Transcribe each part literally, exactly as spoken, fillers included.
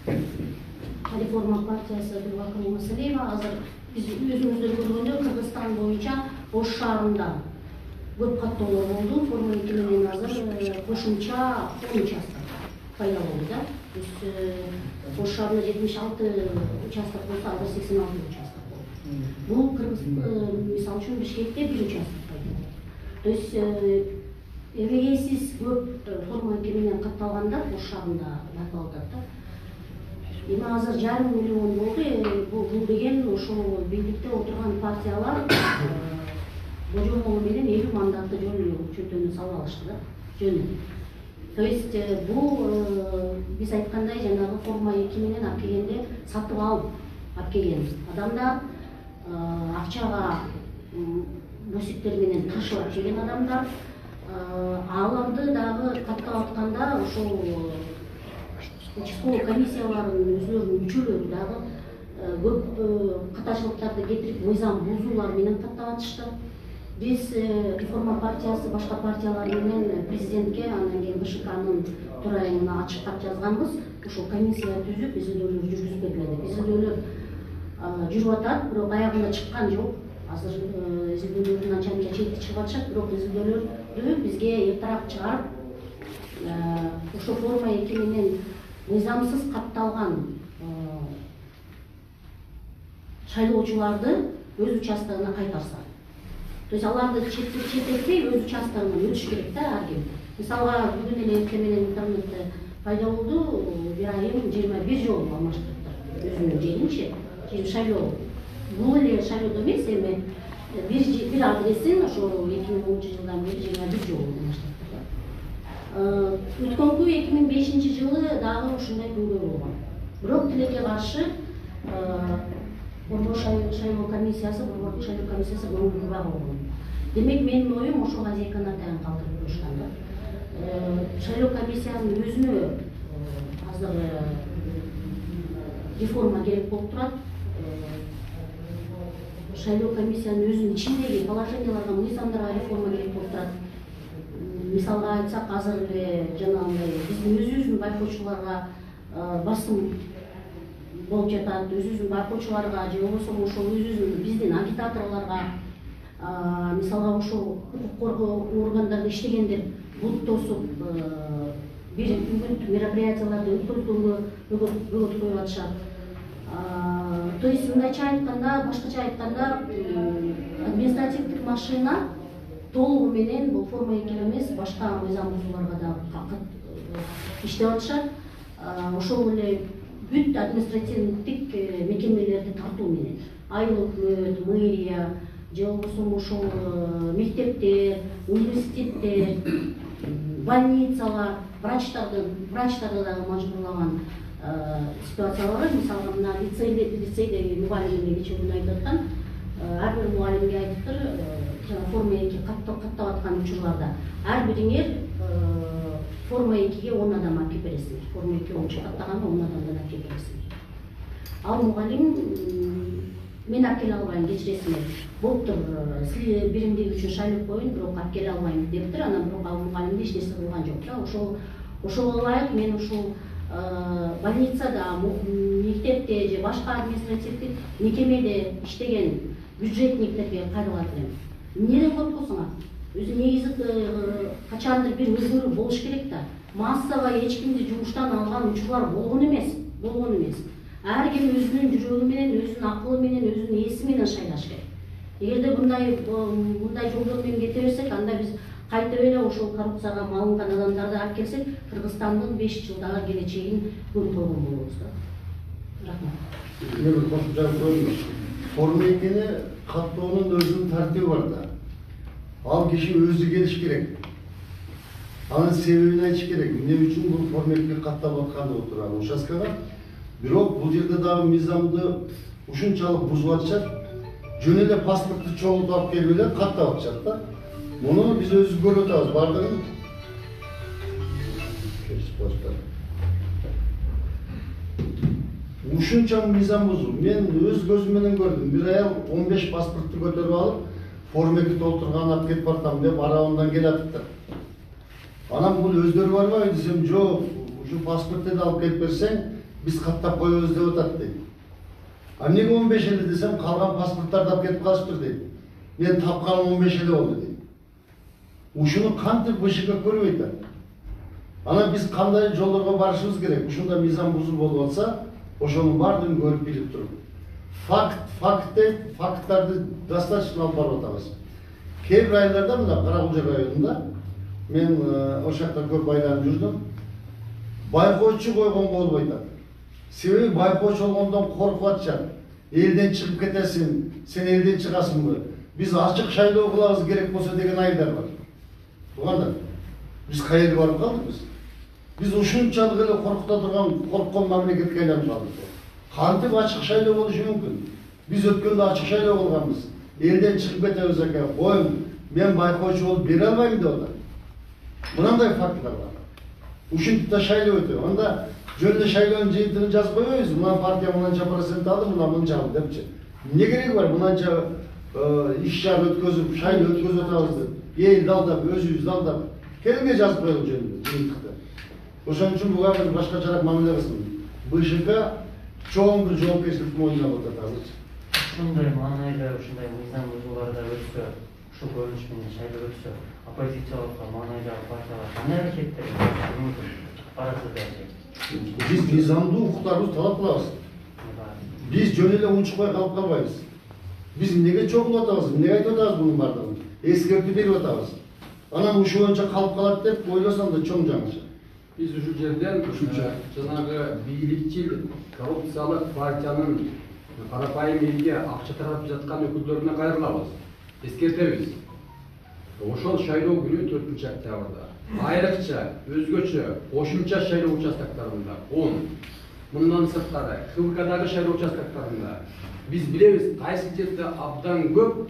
Реформа партиясы Гүлбакыр Мысалиева азыр биз өзүңүздөр көргөндөй Кыргызстан боюнча Ош шаарында көп каттоолор болду. Форма эки менен азыр кошумча он участок пайда болду да. Биз Ош шаарында жетимиш алты участок болсо, азыр сексен алты участок болду. Бул Кыргыз мисалы үчүн Бишкекте бир участок пайда болду. То есть эбегей сиз көп форма эки менен катталганда Ош шаарында айтылып атат да. Эми азыр жарым миллион болду. Бул деген ошол бийликте отурган партиялар божомолу менен элүү мандатты жөн чөтөнү салып алышты да. Жөн. То есть бул биз айткандай жанагы форма эки менен алып келгенде сатып алып алып келген адамдар, акчага босиктер менен ташып алып келген адамдар, аларды дагы каттап атканда ошол участковый комиссиялардын өзүлөрүнүн мүчөлөрү дагы көп катачылыктарды кетирип, мыйзам бузуулар менен каттап атышты. Биз Реформа партиясы башка партиялар менен президентке, андан кийин БШКнын төрайымына ачык кат жазганбыз. Ошол комиссия түзүп, изилдөөлөр жүргүзүп берилет. Изилдөөлөр жүрүп атат, бирок аягына чыккан жок. Азыр изилдөөлөрдүн анча мынча чети чыгып атышат, бирок изилдөөлөрдү бизге эртерээк чыгарып, ошо форма эки менен мыйзамсыз катталган шайлоочуларды өз участогуна кайтарса. То есть аларды четтетпей өз участогуна өтүш керек да ар ким. Мисалга бүгүн эле эртең менен интернетте пайда болду, бир айым жыйырма бир жолу алмаштырыптыр өзүнүн жеринчи. Жер шайлоо. Бул эле шайлоо эмес, эми бир бир адресин ошо эки миң онунчу жылдан бери жыйырма бир жолу алмаштырыптыр. Өткөнкү эки миң бешинчи жылы дагы ушундай күнгөй болгон. Бирок тилекке каршы Борбор шайлоо комиссиясы, Борбор шайлоо комиссиясы көңүлгү болгон. Демек менин оюм ошого азыйкана таян калтырып турушкан да. Шайлоо комиссиянын өзүнө азыр реформа керек болуп турат. Шайлоо комиссиянын өзүнүн ичиндеги положенияларга, мыйзамдарга реформа керек болуп турат. Мисалга айтсак, азыр эле жанагындай биздин өзүбүздүн байкоочуларга басым болуп жатат, өзүбүздүн байкоочуларга же болбосо ошол өзүбүздүн биздин агитаторлорго, мисалга ошол укук коргоо органдарында иштегендер бут тосуп бир үгүт мероприятияларды өткөргөнгө бөгөт коюп атышат. То есть мындайча айтканда, башкача айтканда, административдик машина толугу менен бул форма эки эмес, башка мыйзам бузууларга да иштеп атышат. Ошол эле бүт административдик мекемелерди тартуу менен, айыл өкмөт, мэрия, же болбосо ошол мектептер, университеттер, больницалар, врачтарды, врачтарды дагы мажбурлаган ситуациялар. Мисалга мына лицейде, лицейде мугалимге кечээ күнү айтып аткан, ар бир мугалимге айтыптыр, жана форма эки каттап аткан учурларда ар бириңер форма экиге он адам алып келип бересиңер. Форма эки ончу каттаганда он адамдан алып келип бересиңер. Ал мугалим мен алып келе албайм, кечиресиңер. Болуптур, сиз биримдиги үчүн шайлап коюн, бирок алып келе албайм дептир. Анан бирок ал мугалимде эч нерсе кылган жок да. Ошол ошого ылайык мен ушул больницада, мектепте же башка административдик мекемеде иштеген бюджетниктерге кайрылат элем. Эмнеден коркосуңар? Өзү негизи качандыр бир өзгөрүү болуш керек да. Массовый эч кимди жумуштан алган учурлар болгон эмес, болгон эмес. Ар ким өзүнүн жүрөгү менен, өзүнүн акылы менен, өзүнүн эси менен шайлаш керек. Эгерде мындай мындай жолдор менен кете берсек, анда биз кайтып эле ошол коррупцияга малынган адамдарды алып келсек, Кыргызстандын беш жылдагы келечегин көрүп койгон болобуз да. Рахмат. Мен кошумча көрдүм. Форма экини каттоонун өзүнүн тартиби бар да. Ал киши өзү келиш керек. Анын себебин айтыш керек. Эмне үчүн бул форма экиге каттап атканды отурган участкага. Бирок бул жерде дагы мыйзамды ушунчалык бузуп атышат. Жөн эле паспортты чогултуп алып келип эле каттап атышат да. Муну биз өзүбүз көрүп атабыз, бардыгын. Ушунча мыйзам бузуу. Мен өз көзүм менен көрдүм. Бир аял он беш паспортты көтөрүп алып, форма эки толтурган алып кетип бартам деп арабынан келатыптыр. Анан бул өздөрү барбайбы десем, жок, ушу паспортты алып келип берсең, биз каттап коебуз деп атат дейт. А эмнеге он беш эле десем, калган паспорттарды алып кетип калышыптыр дейт. Мен тапканым он беш эле болду дейт. Ушуну кантип БШК көрбөй атат? Ана биз кандай жолдорго барышыбыз керек? Ушунда мыйзам бузуу болуп атса, ошонун баардыгын көрүп билип туруп. Факт, факт деп, факттарды достаточно алып барып атабыз. Кээ бир айылдарда, мына Каракулжа районунда, мен ошол жакта көп айланып жүрдүм. Байкоочу койгон болбой атат. Себеби байкоочу болгондон коркуп атышат. Элден чыгып кетесиң, сен элден чыгасыңбы? Биз ачык шайлоо кылабыз керек болсо деген айылдар бар. Туугандар, биз каерге барып калдыкпыз? Биз ушунчалык эле коркута турган, корккон мамлекетке айланып калдык. Кантип ачык шайлоо болушу мүмкүн? Биз өткөндө ачык шайлоо кылганбыз. Элден чыгып кетебиз экен. Коюң, мен байкоочу болуп бере албайм деп атат. Мынандай факттар бар. Ушинтип да шайлоо өтөп. Анда жөнүндө шайлоонун жыйынтыгын жазып койбойбуз. Мына партия мынанча процент алды, мына мынча алды депчи. Эмне кереги бар мынанча иш чара өткөзүп, шайлоо өткөзүп атабыз деп. Элди алдап, өзүбүздү алдап, келинге жазып коелук жөнүндө жыйынтыкта. Ошон үчүн буга бир башкачараак мамиле кылсын. БШК чоң бир жоопкерчиликти мойнуна алып атат азырчы. Ушундай маанайда, ушундай мыйзам бузууларда өтсө, ушул көрүнүш менен шайлоо өтсө, оппозициялык маанайдагы партиялар кандай аракеттер мүмкүн барасыздар? Биз мыйзамдуу укуктарыбызды талап кылабыз. Биз жөн эле унчукпай калып калбайбыз. Биз эмнеге чогулуп атабыз, эмнеге айтып атабыз мунун бардыгын? Эскертүү берип атабыз. Анан ушул боюнча калып калат деп ойлосом да чоң жаңылыш. Биз ушул жерден жанагы бийликчил коррупциялык партиянын карапайым элге акча таратып жаткан өкүлдөрүнө кайрылабыз. Эскертебиз. Ошол шайлоо күнү төртүнчү октябрда айрыкча өзгөчө кошумча шайлоо участоктарында он, мындан сырткары ХВКдагы шайлоо участоктарында биз билебиз кайсы жерде абдан көп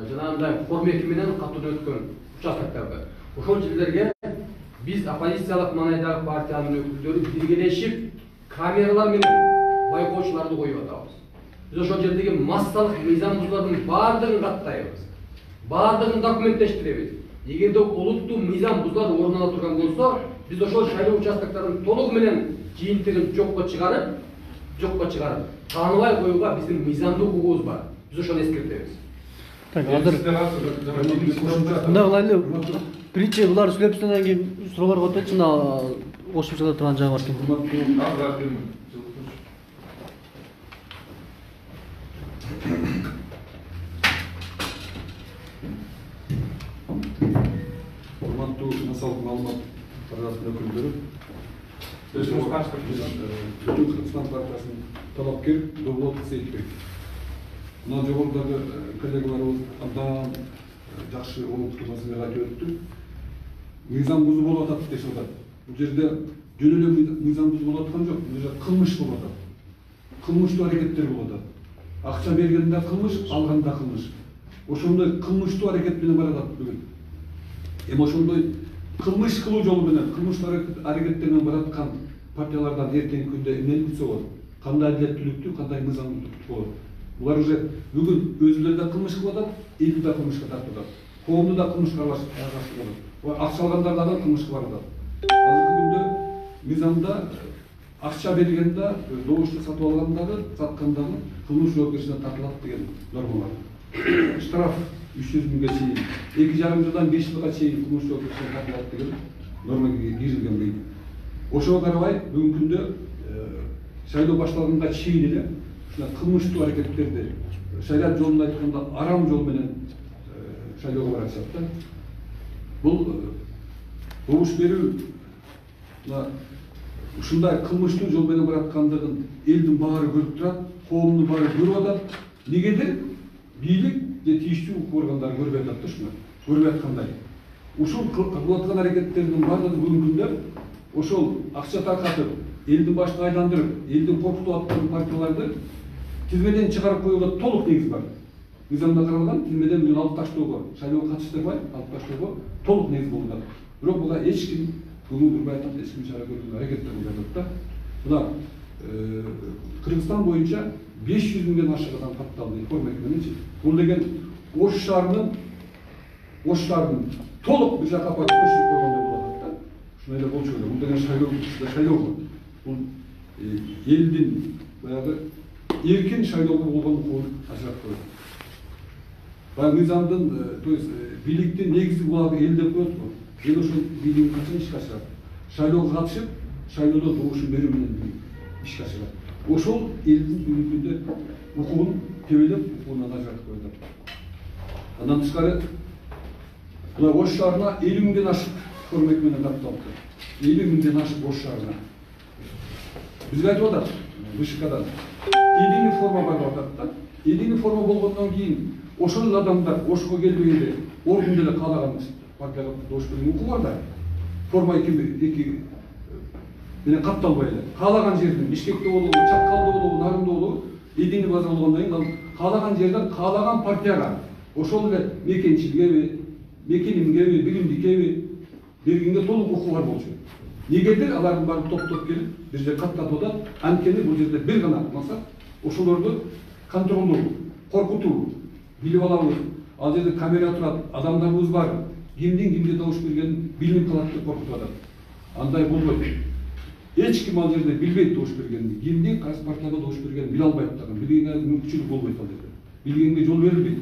жанагындай формеки менен катуу өткөн участоктарды. Ошол жерлерге биз оппозициялык маанайдагы партиянын өкүлдөрү биргелешип камералар менен байкоочуларды коюп атабыз. Биз ошол жердеги массалык мыйзам бузуулардын баардыгын каттайбыз. Баардыгын документтештиребиз. Эгерде олуттуу мыйзам бузуулар орун ала турган болсо, биз ошол шайлоо участокторунун толугу менен жыйынтыгын жокко чыгарып, жокко чыгарып, тааныбай коюуга биздин мыйзамдуу укугубуз бар. Биз ошону эскертебиз. Так, азыр мындай кылайлы. Биринчи булар сүйлөп андан кийин суроолорго өтөчү. Мына кошумчалап турган жагы бар экен. Урматтуу массалык маалымат тармагынын өкүлдөрү, Түтүн Кыргызстан партиясынын талапкер Довлот Сейитбек. Мына жогорудагы коллегаларыбыз абдан жакшы олуттуу маселеге айтып өттү. Мыйзам бузуу болуп атат деп атат. Бул жерде жөн эле мыйзам бузуу болуп аткан жок. Бул жерде кылмыш болуп атат. Кылмыштуу аракеттер болуп атат. Акча бергенде кылмыш, алганда кылмыш. Ошондой кылмыштуу аракет менен баратат бүгүн. Эми ошондой кылмыш кылуу жолу менен, кылмыштуу аракеттер менен бараткан партиялардан эртеңки күндө эмнени күтсө болот? Кандай адилеттүүлүктүү, кандай мыйзамдуулукту болот? Булар уже бүгүн өзүлөрү да кылмыш кылып атат, элди да кылмышка тартып атат. Коомду да кылмышка аралашып болот. Акча алгандар дагы кылмышка барып атат. Азыркы күндө мыйзамда акча бергенде, добушту сатып алгандагы, саткандагы кылмыш жоопкерчиликке тартылат деген норма бар. Штраф үч жүз миңге чейин, эки жарым жылдан беш жылга чейин кылмыш жоопкерчиликке тартылат деген норма кирилген бейт. Ошого карабай бүгүнкү күндө шайлоо башталганга чейин эле ушундай кылмыштуу аракеттерди шарият жолунда айтканда арам жол менен шайлоого баратышат да. Бул добуш берүү ушундай кылмыштуу жол менен бараткандыгын элдин баары көрүп турат, коомдун баары көрүп атат. Негедир бийлик же тийиштүү укук органдары көрбөй атат да ушуну, көрбөй аткандай. Ушул кылып аткан аракеттердин баардыгы бүгүнкү күндө ошол акча таркатып, элдин башын айландырып, элди коркутуп аткан партияларды тизмеден чыгарып коюуга толук негиз бар. Мыйзамда каралган тизмеден бүгүн алып таштоого, шайлоого катыштырбай алып таштоого толук негиз болуп атат. Бирок буга эч ким көңүл бурбай атат, эч ким чара көрүүгө аракет кылбай атат да. Мына Кыргызстан боюнча беш жүз миңден ашык адам катталды информ мененчи. Бул деген Ош шаарынын Ош шаарынын толук бир жака көчүрүп койгондой болуп атат да. Ушундай эле болчу эле. Бул деген шайлоо, шайлоо. Бул элдин баягы эркин шайлоого болгон укугун ажыратып коет. Баягы мыйзамдын, то есть бийликтин негизги булагы эл деп коет го. Эл ошол бийлигин качан ишке ашырат? Шайлоого катышып, шайлоодо добушун берүү менен ишке ашырат. Ошол элдин бүгүнкүндө укугун тебелеп, укугунан ажыратып коет. Андан тышкары мына Ош шаарына элүү миңден ашык формек менен катталыпты. элүү миңден ашык Ош шаарына. Бизге айтып атат, ВШКдан единый форма бар деп атат да. Единый форма болгондон кийин ошол адамдар Ошко келбегенде ордун деле каалаган партияга добуш берген укугу бар да. Форма эки эки менен катталбай эле. Каалаган жерден Бишкекте болобу, Чакалда болобу, Нарында болобу, единый база болгондон кийин каалаган жерден каалаган партияга ошол эле мекенчиликеби, мекенимгеби, билимдикеби бергенге толук укугу бар болчу. Негедир алардын баары топтоп келип бир жерге каттатып атат. Анткени бул жерде бир гана максат ошолорду контролдоо, коркутуу, билип алабыз. Ал жерде камера турат, адамдарыбыз бар. Кимдин кимге добуш бергенин билинип калат деп коркутуп атат. Андай болбойт. Эч ким ал жерде билбейт добуш бергенин, кимдин кайсы партияга добуш бергенин биле албайт дагы. Билгенге мүмкүнчүлүк болбойт ал жерде. Билгенге жол берилбейт.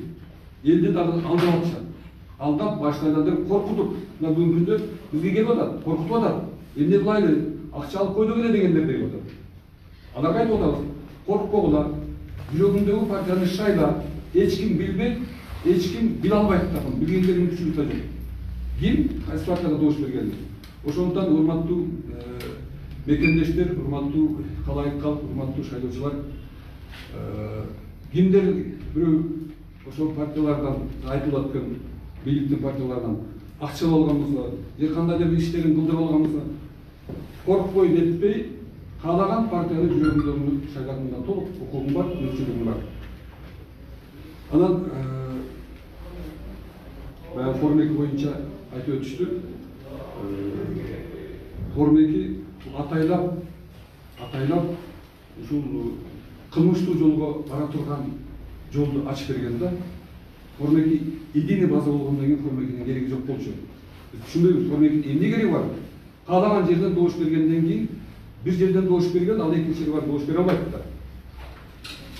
Элди дагы алдап атышат. Алдап баштайдандыр коркутуп, мына бүгүнкү күндө бизге келип атат, коркутуп атат. Эмне кылайлы, акча алып койдук эле дегендер деп атат. Аларга айтып атабыз, коркпогула, жүрөгүңдөгү партияны шайла, эч ким билбейт, эч ким биле албайт дагы, билгенге мүмкүнчүлүк да жок. Ким кайсы партияга добуш бергени. Ошондуктан урматтуу мекендештер, урматтуу калайык калк, урматтуу шайлоочулар, кимдер бирөө ошол партиялардан айтылып аткан бийликтин партияларынан акча алган болсо, же кандай да бир иштерин кылдырып алган болсо, коркпой нетпей, каалаган партияны жүрөгүндөгү шайлаганга толук укугум бар, мүмкүнчүлүгүм бар. Анан баягы форма эки боюнча айтып өтүштү. Форма эки атайлап, атайлап ушул кылмыштуу жолго бара турган жолду ачып берген да. Форма эки единый база болгондон кийин форма экинин кереги жок болчу. Биз түшүнбөйбүз, форма экинин эмне кереги бар? Каалаган жерден добуш бергенден кийин бир жерден добуш берген, ал экинчи жерге барып добуш бере албайт да.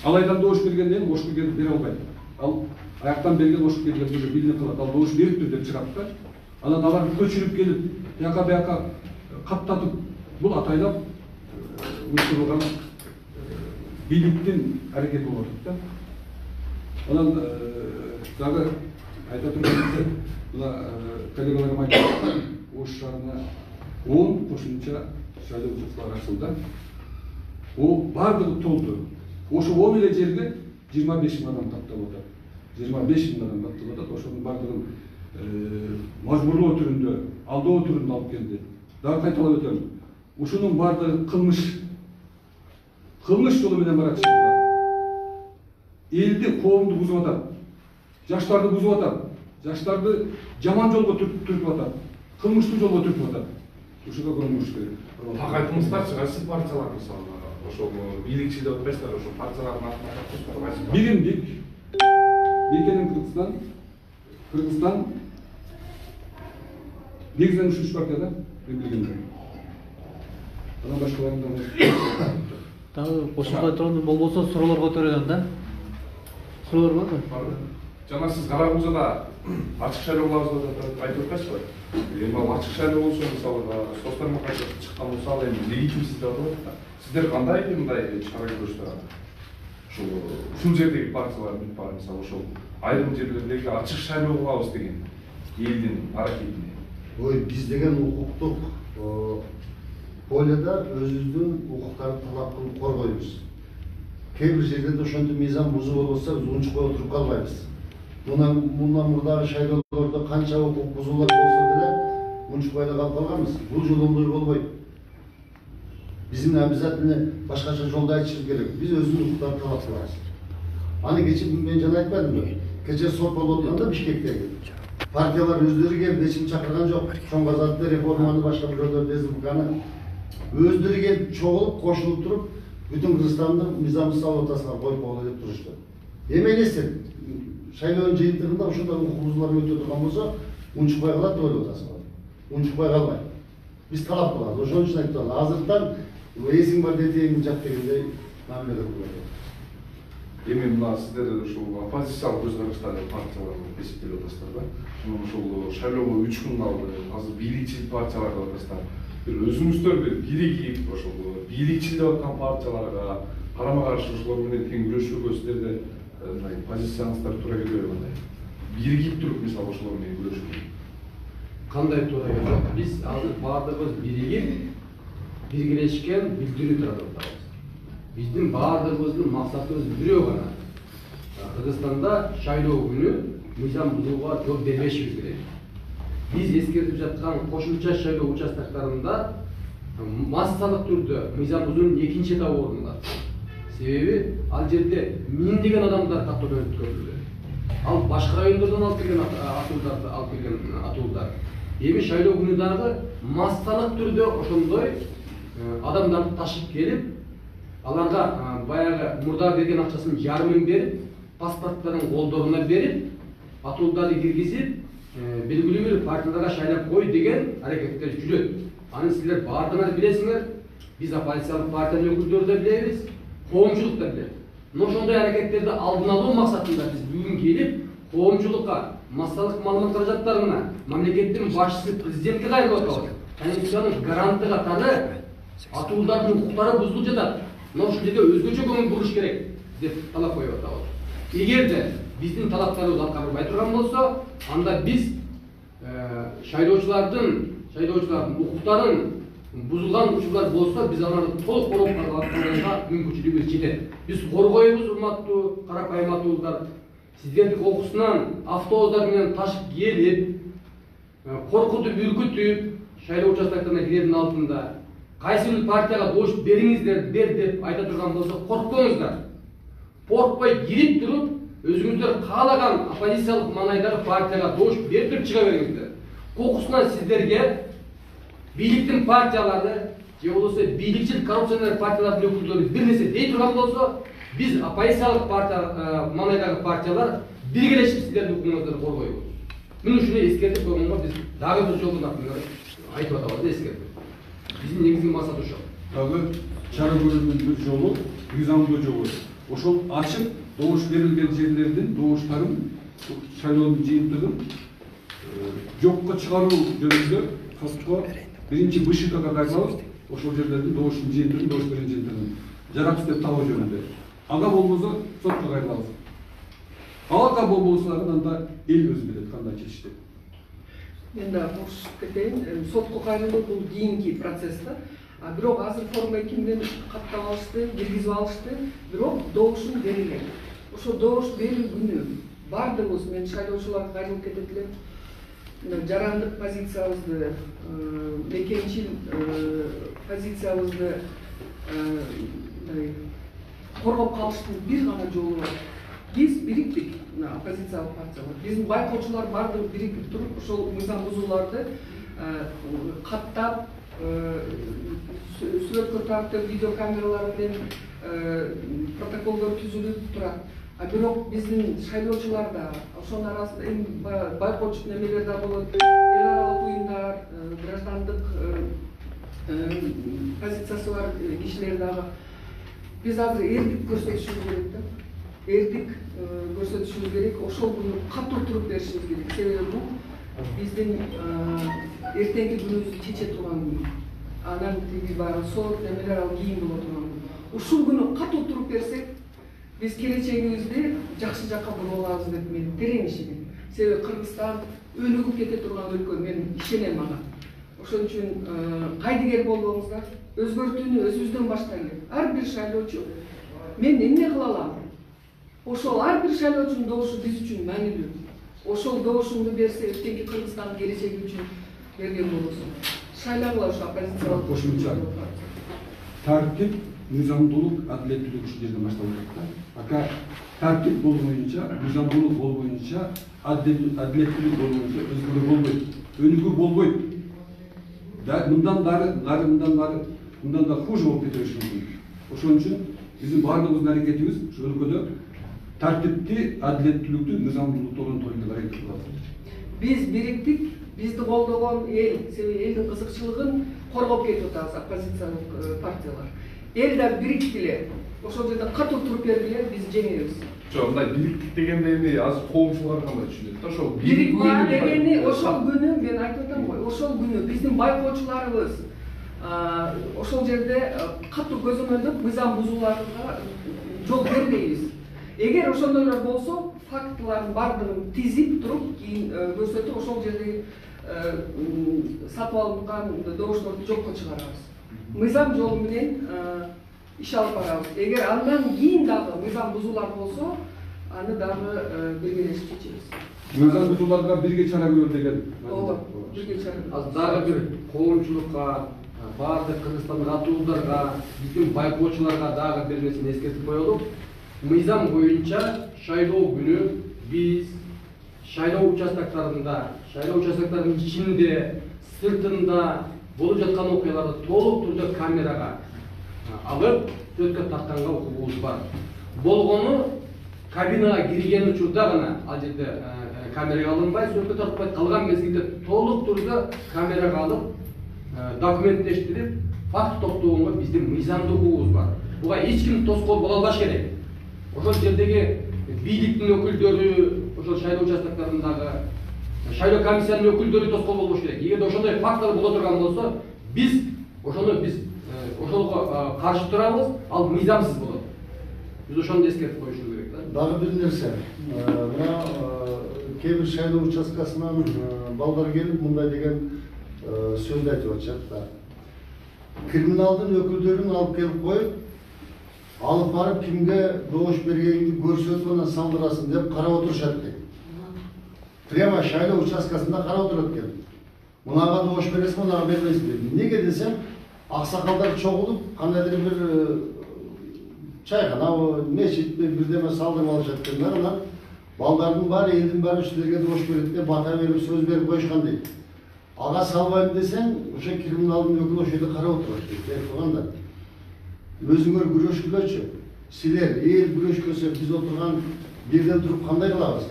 Алайдан добуш бергенден кийин Ошко келип бере албайт. Ал аяктан берген Ошко келгенде билинип калат, ал добуш бериптир деп чыгат да. Анан алар көчүрүп келип, бияка бияка каттатып, бул атайлап уюштурулган бийликтин аракети болуп атат да. Анан дагы айта турганыбыз, мына коллегаларым айтты, Ош шаарына он кошумча шайлоо участкалары ачылды. О бардыгы толду. Ошо он эле жерге жыйырма беш миң адам катталып атат. жыйырма беш миң адам катталып атат. Ошонун бардыгын мажбурлоо түрүндө, алдоо түрүндө алып келди. Дагы кайталап өтөм. Ушунун бардыгы кылмыш. Кылмыш жолу менен барат. Элди, коомду бузуп атат. Жаштарды бузуп атат. Жаштарды жаман жолго түртүп атат. Кылмыштуу жолго түртүп атат. Ушуга көңүл керек. Так айтыңыздарчы, кайсы партиялар мисалы ошол бийликчи деп атпайсыздар, ошол партиялардын атына катышып Биримдик, Мекенин Кыргызстан, Кыргызстан негизинен үч үч партия да, мен билгендер. Анан башкаларында Дагы кошумча турган болбосо суроолор көтөрүлгөн да. Суроолор барбы? Жана сиз Каракузада ачык шайлоо кылабыз деп айтып атпайсызбы? Эми ал ачык шайлоо болсо, мисалы, соц тармакка чыккан болсо, ал эми легитимсиз деп атат да. Сиздер кандай мындай чара көрүшүңүздөр? Ушул ушул жердеги партиялар бар, мисалы, ошол айрым жерлердеги ачык шайлоо кылабыз деген элдин аракетине. Ой, биз деген укуктук поледа өзүбүздүн укуктарды талап кылып коргойбуз. Кээ бир жерлерде ошентип мыйзам бузуп болсо, биз унчукпай отуруп калбайбыз. Мына мындан мурдагы шайлоолордо канча укук бузуулар болсо деле унчукпай да калып калганбыз. Бул жолу ондой болбойт. Биздин обязательно башкача жолду айтышыбыз керек. Биз өзүбүздүн укуктарды талап кылабыз. Аны кече мен жана айтпадымбы? Кече сот болуп атканда Бишкектеги партиялар өздөрү келип эч ким чакырган жок. Чоң-Казакты реформаны башка бирөөлөр республиканы өздөрү келип чогулуп, кошулуп туруп, бүтүн Кыргызстанды мыйзамсыз салып атасыңар, коюп коелу деп турушту. Эми элестет, шайлоонун жыйынтыгында ошондой укук бузуулар өтө турган болсо, унчукпай калат деп ойлоп атасыңар. Унчукпай калбайт. Биз талап кылабыз. Ошон үчүн айтып атам, азыртан эсиң бар детейин жак дегендей мамиле кылып. Эми мына сиздер ушул оппозициялык көз караштагы партиялар болуп эсептелип атасыздар да. Анан ушул шайлоого үч күн калды. Азыр бийликчил партиялар деп атасыздар. Бир өзүңүздөр бир биригип ошол бийликчил деп аткан партияларга карама каршы ошолор менен тең күрөшүүгө сиздерде мындай позицияңыздар туура келбейби кандай? Биригип туруп мисалы ошолор менен күрөшүү. Кандай туура келет? Биз азыр баардыгыбыз биригип, биргелешкен билдирүү таратабыз. Биздин баардыгыбыздын максатыбыз бирөө гана. Кыргызстанда шайлоо күнү мыйзам бузууга жол бербешибиз керек. Биз эскертип жаткан кошумча шайлоо участоктарында массалык түрдө мыйзам бузуунун экинчи этабы орун алат. Себеби ал жерде миңдеген адамдар каттоодон өткөрүлдү. Ал башка райондордон алып келген атуулдарды алып келген атуулдар. Эми шайлоо күнү дагы массалык түрдө ошондой адамдарды ташып келип, аларга баягы мурда берген акчасын жарымын берип, паспорттарын колдоруна берип, атуулдарды киргизип, белгилүү бир партияларга шайлап кой деген аракеттер жүрөт. Аны силер баардыгыңар билесиңер. Биз оппозициялык партиянын өкүлдөрү да билебиз, коомчулук да билет. Но ошондой аракеттерди алдын алуу максатында биз бүгүн келип, коомчулукка, массалык маалымат каражаттарына, мамлекеттин башчысы президентке кайрылып атабыз. Конституциянын гаранты катары атуулдардын укуктары бузулуп жатат. Но ушул жерде өзгөчө көңүл буруш керек деп талап коюп атабыз. Эгерде биздин талаптарыбыз аткарылбай турган болсо, анда биз шайлоочулардын шайлоочулардын укуктарын бузулган учурлар болсо, биз аларды толук коргоп калганга мүмкүнчүлүгүбүз жетет. Биз коргойбуз, урматтуу карапайым атуулдар. Сиздердин окуусунан автобустар менен ташып келип, коркутуп, үркүтүп, шайлоо участоктарына кирердин алдында кайсы бир партияга добуш бериңиздер, бер деп айта турган болсо, коркпоңуздар. Коркпой кирип туруп, өзүңүздөр каалаган оппозициялык маанайдагы партияга добуш берип туруп чыга бериңиздер. Кокусунан сиздерге бийликтин партиялары же болбосо бийликчил коррупционер партиялардын өкүлдөрү бир нерсе дей турган болсо, биз оппозициялык партия маанайдагы партиялар биргелешип сиздердин укугуңуздарды коргойбуз. Мен ушуну эскертип койгонго биз дагы бир жолу айтып атабыз, эскертип. Биздин негизги максат ошол. Дагы чара көрүүнүн бир жолу мыйзамдуу жолу. Ошол ачык добуш берилген жерлердин добуштарын, шайлоонун жыйынтыгын жокко чыгаруу жөнүндө сотко биринчи БШКга кайрылабыз. Ошол жерлердин добуштун жыйынтыгын, добуш берген жыйынтыгын жараксыз деп табуу жөнүндө. Ага болбосо сотко кайрылабыз. Ага болбосо анда эл өзү билет кандай чечишти. Мен да кошуп кетейин. Сотко кайрылуу бул кийинки процесс да. А бирок азыр форма эки менен каттап алышты, киргизип алышты. Бирок добушун берилген. Ошо добуш берүү күнү бардыгыбыз, мен шайлоочуларга кайрылып кетет элем. Жарандык позициябызды, мекенчил позициябызды коргоп калыштын бир гана жолу бар. Биз бириктик, оппозициялык партиялар. Биздин байкоочулар бардыгы биригип туруп, ошол мыйзам бузууларды каттап, сүрөткө тартып, видеокамералар менен протоколдор түзүлүп турат. А бирок биздин шайлоочулар да, ошонун арасында эми байкоочу немелер да болот, эл аралык уюмдар, граждандык позициясы бар кишилер дагы. Биз азыр эрдик көрсөтүшүбүз керек да. Эрдик көрсөтүшүбүз керек, ошол күнү катуу туруп беришибиз керек. Себеби бул биздин эртеңки күнүбүздү чече турган күн. Анан тиги баягы сот немелер ал кийин боло турган күн. Ушул күнү катуу туруп берсек, биз келечегибизди жакшы жакка буруп алабыз деп мен терең ишенем. Себеби Кыргызстан өнүгүп кете турган өлкө, мен ишенем ага. Ошон үчүн кайдыгер болбоңуздар, өзгөртүүнү өзүбүздөн баштайлы. Ар бир шайлоочу мен эмне кыла алам? Ошол ар бир шайлоочунун добушу биз үчүн маанилүү. Ошол добушунду берсе, эртеңки Кыргызстандын келечеги үчүн берген болосун. Шайлагыла ошо оппозициялык кошумча тартип, мыйзамдуулук, адилеттүүлүк ушул жерден башталып жатат. Ака тартип болбоюнча, мыйзамдуулук болбоюнча, адилеттүүлүк болбоюнча өзгөрүү болбойт, өнүгүү болбойт. Да мындан дары, нары мындан нары, мындан да хуже болуп кете бериши мүмкүн. Ошон үчүн биздин баардыгыбыздын аракетибиз ошол өлкөдө тартипти, адилеттүүлүктү, мыйзамдуулукту орнотууга аракет кылабыз. Биз бириктик, бизди колдогон эл, себеби элдин кызыкчылыгын коргоп кетип атабыз оппозициялык партиялар. Эл да бириктиле, ошол жерде катуу туруп бергиле, биз жеңебиз. Жок, мындай бириктик дегенде эми азыр коомчулар кандай түшүнөт да ошол Бирик бар дегени ошол күнү мен айтып атам го, ошол күнү биздин байкоочуларыбыз ошол жерде катуу көзөмөлдөп мыйзам бузууларга жол бербейбиз. Эгер ошондойлор болсо, фактылардын бардыгын тизип туруп, кийин көрсөтүп, ошол жердеги сатып алынган добуштарды жокко чыгарабыз. Мыйзам жолу менен иш алып барабыз. Эгер андан кийин дагы мыйзам бузуулар болсо, аны дагы биргелешип чечебиз. Мыйзам бузууларга бирге чара көрүлөт деген. Ооба, бирге чара. Азыр дагы бир коомчулукка, баардык Кыргызстандык атуулдарга, биздин байкоочуларга дагы бир нерсени эскертип коелу. Мыйзам боюнча шайлоо күнү биз шайлоо участоктарында, шайлоо участоктарынын ичинде, сыртында болуп жаткан окуяларды толук түрдө камерага алып, сөзгө тартканга укугубуз бар. Болгону кабинага кирген учурда гана ал жерде камерага алынбай, сөзгө тартпай калган мезгилде толук түрдө камерага алып, документтештирип, факт топтогонго биздин мыйзамдуу укугубуз бар. Буга эч ким тоскоол боло албаш керек. Ошол жердеги бийликтин өкүлдөрү, ошол шайлоо участоктарындагы шайлоо комиссиянын өкүлдөрү тоскоол болбош керек. Эгерде ошондой фактылар боло турган болсо, биз ошону биз ошолго каршы турабыз, ал мыйзамсыз болот. Биз ошону эскертип коюшубуз керек да. Дагы бир нерсе, мына кээ бир шайлоо участкасынан балдар келип мындай деген сөздү айтып атышат да. Криминалдын өкүлдөрүн алып келип коюп, алып барып кимге добуш бергенинди көрсөтүп анан салдырасың деп карап отурушат дейт. Прямо шайлоо участкасында карап отурат экен. Мунага добуш бересиң, мунага бербейсиң. Неге десем, аксакалдар чогулуп, кандайдыр бир чайкана, мечитти бирдеме салдырып алышат экен. Анан балдардын баары, элдин баары силерге добуш берет деп бата берип, сөз берип коюшкан дейт. Ага салбайм десең, ошо криминалдын өкүлү ошол жерде карап отурат дейт. Берип койганда. Өзүңөр күрөшкүлөчү. Силер эл күрөшкөсө биз отурган жерден туруп кандай кылабыз?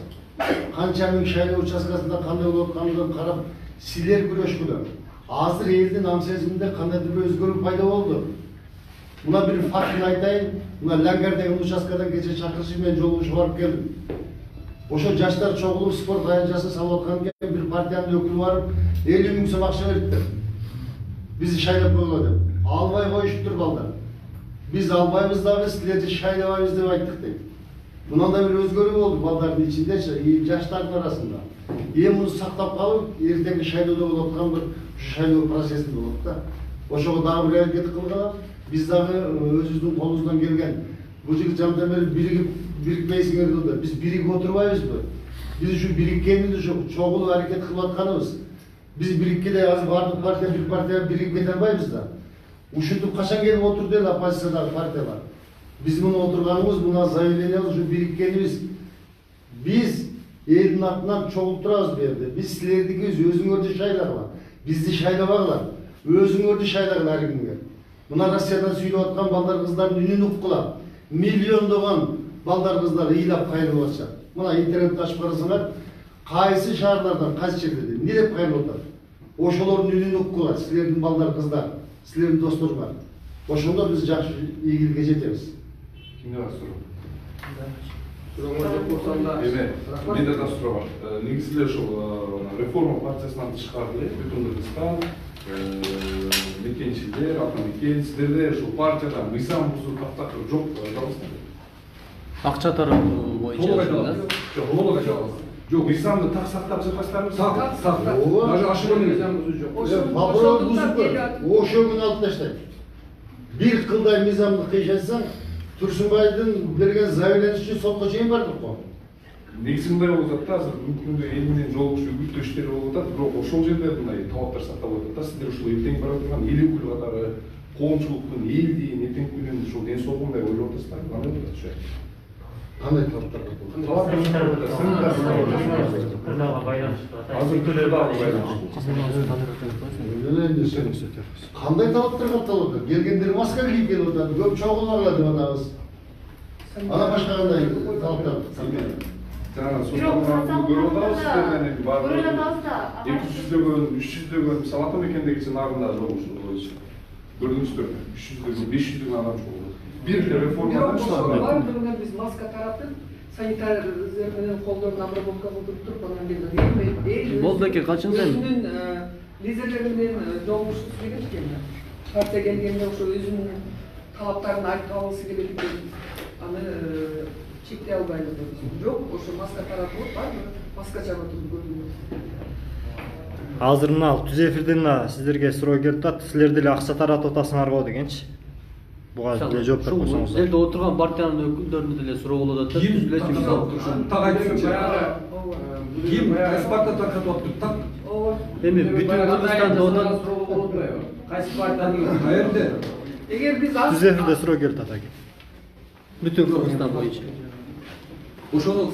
Канча миң шайлоо участкасында кандай болуп атканын карап, силер күрөшкүлө. Азыр элдин ам сезиминде кандайдыр бир өзгөрүү пайда болду. Мына бир фактын айтайын. Мына Лангар деген участкадан кече чакырышып мен жолугушуп барып келдим. Ошо жаштар чогулуп спорт аянтчасын салып аткан экен, бир партиянын өкүлү барып, элүү миң сом акча бериптир. Бизди шайлап койгула деп. Албай коюшуптур балдар. Биз албайбыз дагы, силерди шайлабайбыз деп айттык дейт. Мындай бир өзгөрүү болду балдардын ичиндечи, жаштардын арасында. Эми муну сактап калып, эртеңки шайлоодо болуп аткан бир шайлоо процесси болот да. Ошого дагы бир аракет кылгыла, биз дагы өзүбүздүн колубуздан келген бул жигит жандан бери биригип бирикпейсиңер да. Биз биригип отурбайбызбы? Биз ушу бириккенибиз, ушу чогулуп аракет кылып атканыбыз. Биз бириккенде азыр бардык партия бир партия биригип кете албайбыз да. Ушинтип качан келип отурду эл оппозициядагы партиялар. Биз муну отурганыбыз, мына заявлениябыз ушу бириккенибиз. Биз элдин атынан чогулуп турабыз бу жерде. Биз силердикибиз, өзүңөрдү шайлагыла. Бизди шайлабагыла. Өзүңөрдү шайлагыла ар кимге. Мына Россиядан сүйлөп аткан балдар кыздардын үнүн уккула. Миллиондогон балдар кыздар ыйлап кайрылып атышат. Мына интернетти ачып карасаңар, кайсы шаарлардан, кайсы жерде эмне деп кайрылып атат. Ошолордун үнүн уккула, силердин балдар кыздар, силердин досторуңар. Ошондо биз жакшы ийгиликке жетебиз. Кимде бар суроо? Сурооңор жок болсо да. Эме, менде да суроо бар. Негизи эле ушул реформа партиясынан тышкары эле бүтүн Кыргызстан мекенчилер, атамекен, силерде ушул партияда мыйзам бузуу тактакыр жок жалгызсызбы? Акча таратуу боюнча. Жок, толук айта аласыз. Жок, мыйзамды так сактап жатпайсыздарбы? Так, так. Даже ошону мыйзам бузуу жок. Ошол бузуп ошол күнү алып таштайт. Бир кылдай мыйзамды кыйшатсаң, Турсунбайдын берген заявлениясы үчүн сотко чейин бардык го. Негизи мындай болуп атат да, азыр мүмкүндүү эл менен жолугушуу үгүттөө иштери болуп атат, бирок ошол жерде мындай талаптар сакталып атат да. Сиздер ушул эртең бара турган эл өкүлү катары коомчулуктун элдин эртеңки күнүн ушул ден соолугундай ойлоп атасыздарбы? Кандай болот ошо? Кандай талаптар бар? Кырдаага байланыштуу. Азыр кырдаага байланыштуу. Кандай талаптар катталып? Келгендер маска кийип келип атат, көп чогулмагыла деп атабыз. Ана башка кандай талаптар? жаңағы Бирок сотталган көрүп атабыз сиздерден эми көрүп атабыз да эки жүздөгөн үч жүздөгөн мисалы ата мекендеги нарында жок ушул боюнча көрдүңүздөр үч жүздөгөн беш жүздөгөн адам чогулду бир реформадан бирок чыгат. баардыгына биз маска таратып санитарлар менен колдорун обработка кылдырып туруп анан келген Болду экен, качан сайын? өзүнүн лидерлери менен жолугушкусу келет экен да. Партия келгенде ошо өзүнүн талаптарын айтып алгысы келет экен. Аны чектей албайбыз деп. Жок, ошо маска таратылып баардыгы маска чабып туруп көрдүңүз. Азыр мына түз эфирден мына сиздерге суроо келип атат. Силер деле акча таратып атасыңарбы дегенчи. Буга деле жооп берип койсоңуз. Элде отурган партиянын өкүлдөрүнө деле суроо болуп атат. Ким Биз билесиз, мисалы. так айтсынчы. Ким кайсы партия таркатып атты? Так. Эми бүтүн Кыргызстанда одан суроо болуп атпайбы? Кайсы партиянын? Каерде? Эгер биз Түз эфирде суроо келип атат аке. бүтүн Кыргызстан боюнча. Ошону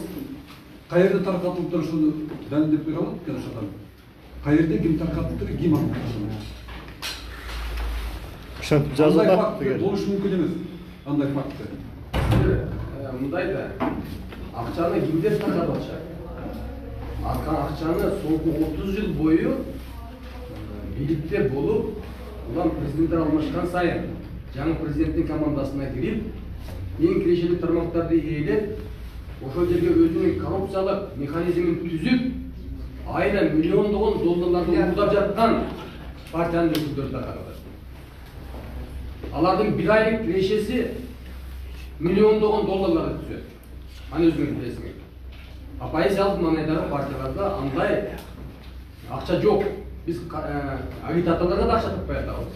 каерде таркатылып ошону далилдеп бере алат экен ошо адам. Каерде ким таркатыптыр, ким аны Ошентип жазып Андай атат. факт болушу мүмкүн эмес. Андай факт. Мындай да, акчаны кимдер таркатып атышат? Акчаны соңку отуз жыл бою бийликте болуп, улам президенттер алмашкан сайын жаңы президенттин командасына кирип, эң кирешелик тармактарды ээлеп, ошол жерге өзүнүн коррупциялык механизмин түзүп, айына миллиондогон долларларды уурдап жаткан партиянын өкүлдөрү таркатат. Алардын бир айлык кирешеси миллиондогон долларларды түзөт. Аны өзүңүз билесиңер. Оппозициялык мамлекеттер партияларда андай акча жок. Биз агитаторлорго да акча таппай атабыз.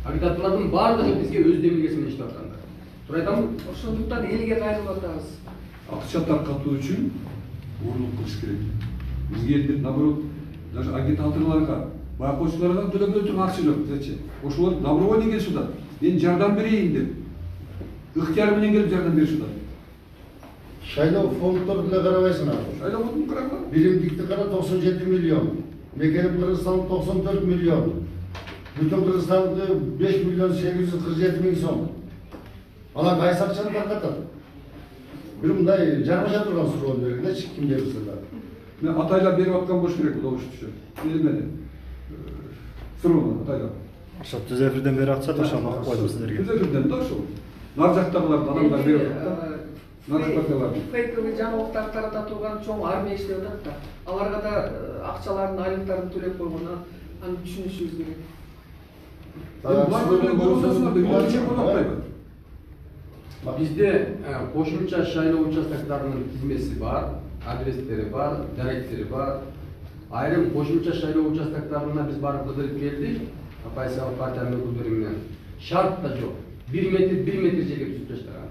Агитаторлордун баардыгы бизге өз демилгеси менен иштеп аткандар. Туура айтамбы? Ошондуктан элге кайрылып атабыз. Акча таркатуу үчүн оорлук кылыш керек. Бизге элдер наоборот, даже агитаторлорго, байкоочуларга төлөгөнө турган акча жок, дечи. Ошолор добровольный келишип атат. Мен жардам берейин деп. Ыктыяр менен келип жардам беришип атат. Шайлоо фонддорду деле карабайсыңар. Шайлоо фондун карагыла. Биримдикти кара токсон жети миллион. Мекенип Кыргызстан токсон төрт миллион. Бүтүн Кыргызстанды беш миллион сегиз жүз кырк жети миң сом. Анан кайсы акчаны таркатат? Бир мындай жармаша турган суроо бергилечи, кимдер силер? Мен атайлар берип аткан болуш керек, кудо болушу. Элмеде. Суроону атайлар. Ошо түз эфирден бери атышат, ошону окуп койдум сиздерге. Түз эфирден да ошол. Нар жактагыларды адамдар берип атат. Нар жактагыларды. Фейковый жаңылыктар тарата турган чоң армия иштеп атат да. Аларга да акчаларын, айлыктарын төлөп койгон, аны түшүнүшүбүз керек. Бизде кошумча шайлоо участоктарынын тизмеси бар, адрестери бар, даректери бар. Айрым кошумча шайлоо участоктарына биз барып кыдырып келдик. Оппозициялык партиянын өкүлдөрү менен. Шарт да жок. бир метр, бир метр жерге түзүп таштаган.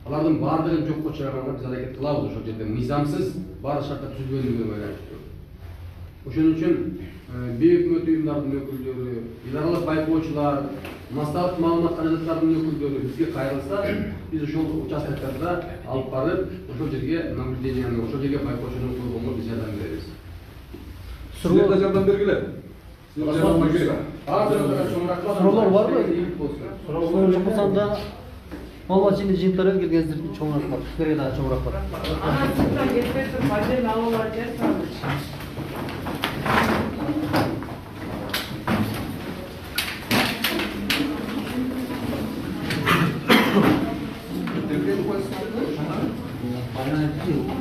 Алардын баардыгын жокко чыгарганга биз аракет кылабыз ошол жерде. Мыйзамсыз баардык шарттар түзүлгөнүгүнө байланыштуу. Ошон үчүн бейөкмөт уюмдардын өкүлдөрү, эл аралык байкоочулар, массалык маалымат каражаттарынын өкүлдөрү бизге кайрылса, биз ошол участоктарда алып барып, ошол жерге наблюденияны, ошол жерге байкоочуну койгонго биз жардам беребиз. Силер да жардам бергиле. Суроолор барбы? Суроо болсо да Малбат жини жыйынтар келгендер чоңураак бар. Силерге дагы чоңураак бар. Анан сырттан кетпей туруп бажен алуулар жасаңыз.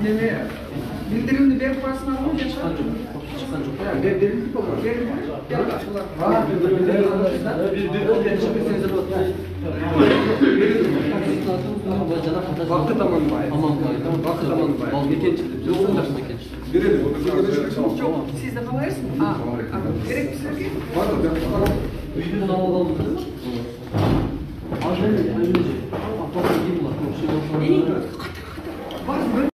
Неме билдиримди берип коесуңарбы? Чыккан жок. Чыккан жок. Берилди го, берилди. Бакыт Аманбаев. Аманбаев. Бакыт Аманбаев. Ал мекенчи. Жоксундар мекенчи. Берели. Жок, сиз да калайсызбы? А, керек силерге? Үйдүн алып алдым. Ал жерде, ал жерде. Апа, ким булар?